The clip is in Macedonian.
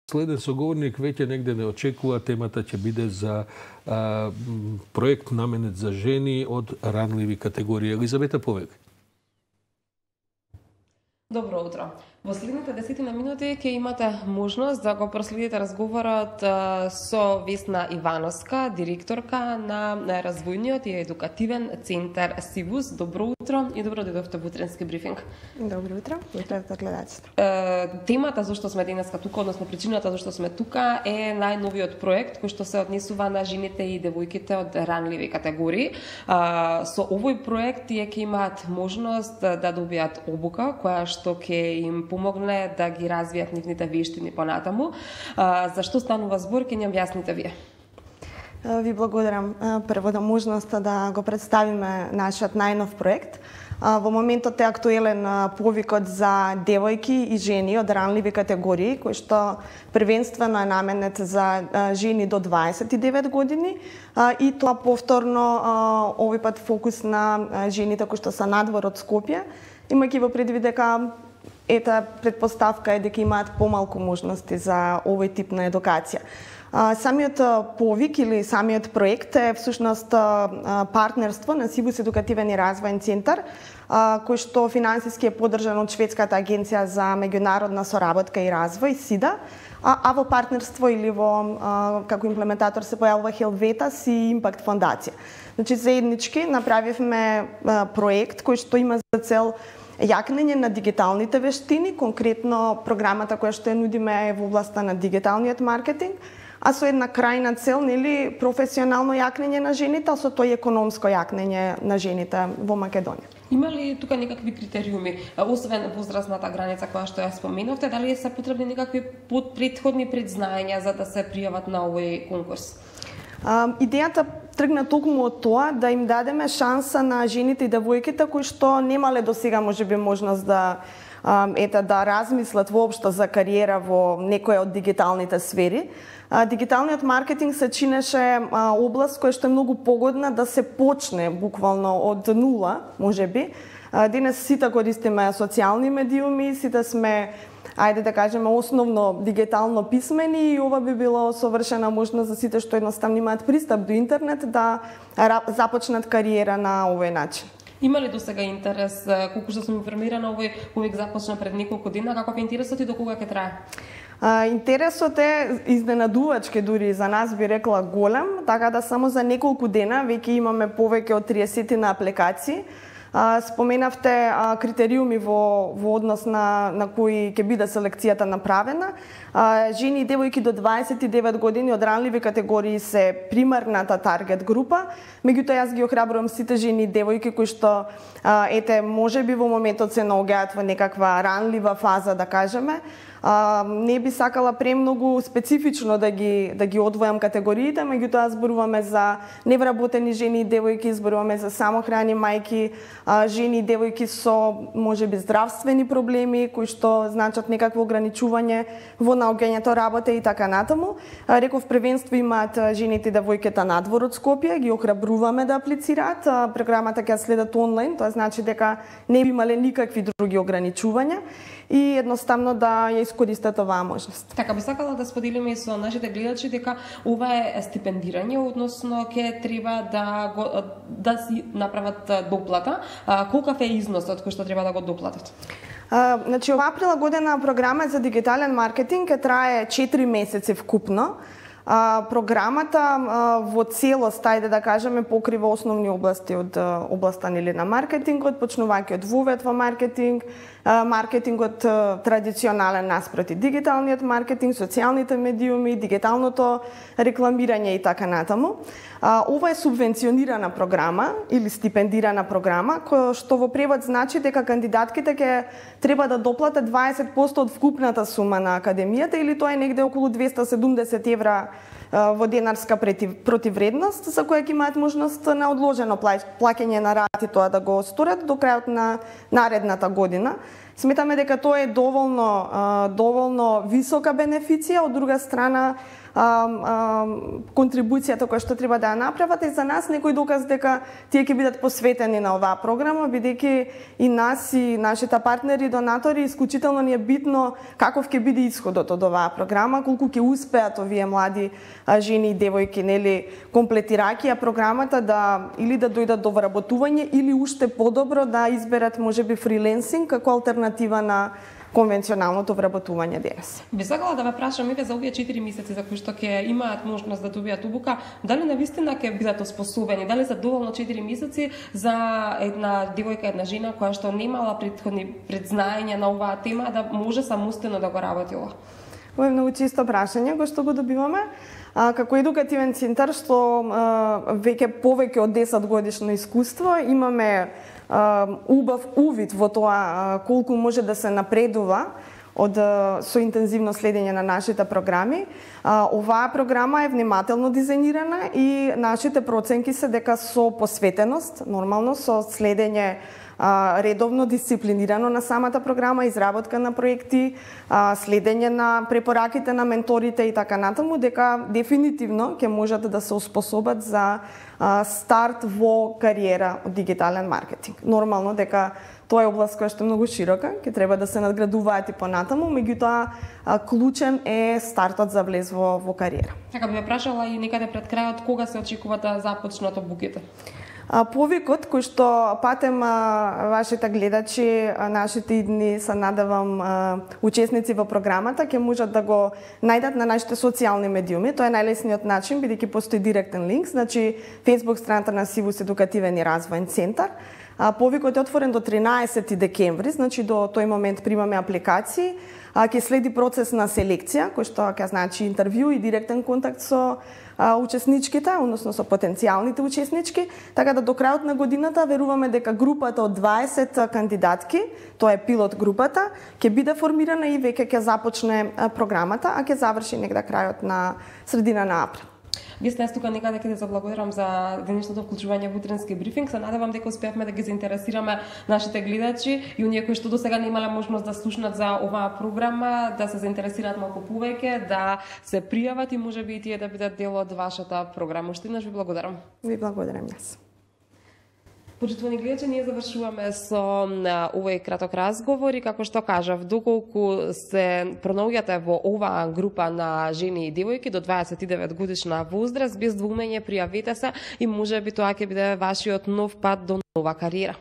Следен соговорник веќе негде не очекува, темата ќе биде за проект наменет за жени од ранливи категории. Елизавета Повеќе. Добро утро. Во следните 10 минути ќе имате можност да го проследите разговорот со Весна Ивановска, директорка на развојниот и едукативен центар СИВУС. Добро утро и добро дојдовте во утренски брифинг. Добро утро, утро гледачите. Темата зашто сме денеска тука, односно причината зашто сме тука е најновиот проект кој што се однесува на жените и девојките од ранливи категории. Со овој проект тие ќе имаат можност да добијат обука која што ќе им помогне да ги развијат нивните вештини понатаму. Зашто станува збор, ќе ни објасните вие. Ви благодарам прво за можноста да го представиме нашиот најнов проект. Во моментот е актуелен повикот за девојки и жени од ранливи категории, кој што првенствено е наменет за жени до 29 години и тоа повторно овој пат фокус на жените кои што се надвор од Скопје, имајќи во предвид дека предпоставка е дека имаат помалку можности за овој тип на едукација. Самиот повик или самиот проект е всушност партнерство на СИВУС едукативен и развојен центар, кој што финансиски е поддржан од Шведската агенција за меѓународна соработка и развој СИДА, а во партнерство или во како имплементатор се појавува Хелветас и Импакт фондација. Значи заеднички направивме проект кој што има за цел јакнење на дигиталните вештини, конкретно програмата која што ја нудиме е во областа на дигиталниот маркетинг, а со една крајна цел, нели, професионално јакнење на жените, а со тоа и економско јакнење на жените во Македонија. Има ли тука некакви критериуми, освен возрастната граница која што ја споменавте, дали се потребни некакви претходни предзнаења за да се пријават на овој конкурс? Идејата тргна токму од тоа да им дадеме шанса на жените и девојките кои што немале досега можеби можност да размислат воопшто за кариера во некоја од дигиталните сфери. Дигиталниот маркетинг се чинеше област која што е многу погодна да се почне буквално од нула, можеби. Денес сите користиме социјални медиуми, сите сме, ајде да кажеме, основно дигитално писмени и ова би било совршена можност за сите што едноставно имаат пристап до интернет да започнат кариера на овој начин. Има ли досега интерес, колку што сум информирана, овој повик започна пред неколку дена, каков е интересот и до кога ќе трае? Интересот е изненадувачки, дури за нас би рекла голем, така да само за неколку дена веќе имаме повеќе од 30 на апликации. Споменавте критериуми во однос на кои ќе биде селекцијата направена. Жени и девојки до 29 години од ранливи категории се примарната таргет група. Меѓутоа јас ги охрабрувам сите жени и девојки кои што можеби во моментот се наоѓаат во некаква ранлива фаза, да кажеме. Не би сакала премногу специфично да ги одвојам категориите, меѓутоа зборуваме за невработени жени и девојки, зборуваме за самохрани мајки, жени и девојки со можеби здравствени проблеми кои што значат некакво ограничување во наоѓањето работа и така натаму. Реков првенство имаат жените и девојките надвор од Скопје, ги охрабруваме да аплицираат. Програмата ќе следат онлайн, тоа значи дека не би имале никакви други ограничувања и едноставно да ја искористат оваа можност. Така би сакала да споделиме и со нашите гледачи дека ова е стипендирање, односно ќе треба да си направат доплата. Колкав е износот кој што треба да го доплатат? Значи, оваа прилагодена програма за дигитален маркетинг ќе трае 4 месеци вкупно. Програмата во целост, ајде да кажеме, покрива основни области од областа на маркетингот, почнувајќи од вовед во маркетинг, маркетингот традиционален наспроти дигиталниот маркетинг, социјалните медиуми, дигиталното рекламирање и така натаму. Ова е субвенционирана програма или стипендирана програма, која што во превод значи дека кандидатките ќе треба да доплатат 20% од вкупната сума на академијата или тоа е негде околу 270 евра во денарска противвредност, за која ќе имаат можност на одложено плаќање на рати тоа да го сторат до крајот на наредната година. Сметаме дека тоа е доволно висока бенефиција, од друга страна контрибуцијата која што треба да ја направат е за нас некој доказ дека тие ќе бидат посветени на оваа програма, бидејќи и нас и нашите партнери и донатори исклучително ни е битно каков ќе биде исходот од оваа програма, колку ќе успеат овие млади жени и девојки, нели, комплетирајќи ја програмата да или да дојдат до вработување или уште подобро да изберат можеби фриленсинг како алтернатива на конвенционалното вработување денес. Би сакала да ве прашам за овие 4 месеци за кои што ќе имаат можност да добијат обука, дали навистина ќе бидат оспособени, дали се доволно 4 месеци за една девојка, една жена која што немала претходни предзнаење на оваа тема да може самостојно да го работила? Ова е многу чисто прашање кој што го добиваме. Како едукативен центар што веќе повеќе од 10 годишно искуство, имаме убав увид во тоа колку може да се напредува со интензивно следење на нашите програми. Оваа програма е внимателно дизајнирана и нашите проценки се дека со посветеност, нормално со следење редовно, дисциплинирано на самата програма, изработка на проекти, следење на препораките на менторите и така натаму, дека дефинитивно ќе можат да се успособат за старт во кариера од дигитален маркетинг. Нормално дека тоа е област која што е многу широка, ќе треба да се надградуваат и понатаму, меѓутоа клучен е стартот за влез во кариера. Така би ме прашала и некаде пред крајот кога се очекува да започнат обуките? Повикот кој што патем вашите гледачи, нашите идни, се надевам, учесници во програмата, ќе можат да го најдат на нашите социјални медиуми. Тоа е најлесниот начин, бидејќи постои директен линк, значи Facebook страната на Сивус едукативен и развоен центар. Повикот е отворен до 13 декември, значи до тој момент примаме апликации. Ќе следи процес на селекција, кој што ќе значи интервју и директен контакт со учесничките, односно со потенцијалните учеснички, така да до крајот на годината веруваме дека групата од 20 кандидатки, тоа е пилот групата, ќе биде формирана и веќе ќе започне програмата, а ќе заврши негде крајот на средина на април. Вие сте тука некаде ќе заблагодарам за денешното вклучување во утренски брифинг. Се надевам дека успеавме да ги заинтересираме нашите гледачи и оние кои што досега не имале можност да слушнат за оваа програма, да се заинтересираат малку повеќе, да се пријават и можеби и тие да бидат дел од вашата програма. Уште еднаш ви благодарам. Ви благодарам јас. Почитувани гледачи, ние завршуваме со овој краток разговор и како што кажав, доколку се пронаоѓате во оваа група на жени и девојки до 29 годишна возраст, без двумење пријавете се и можеби тоа ќе биде вашиот нов пат до нова кариера.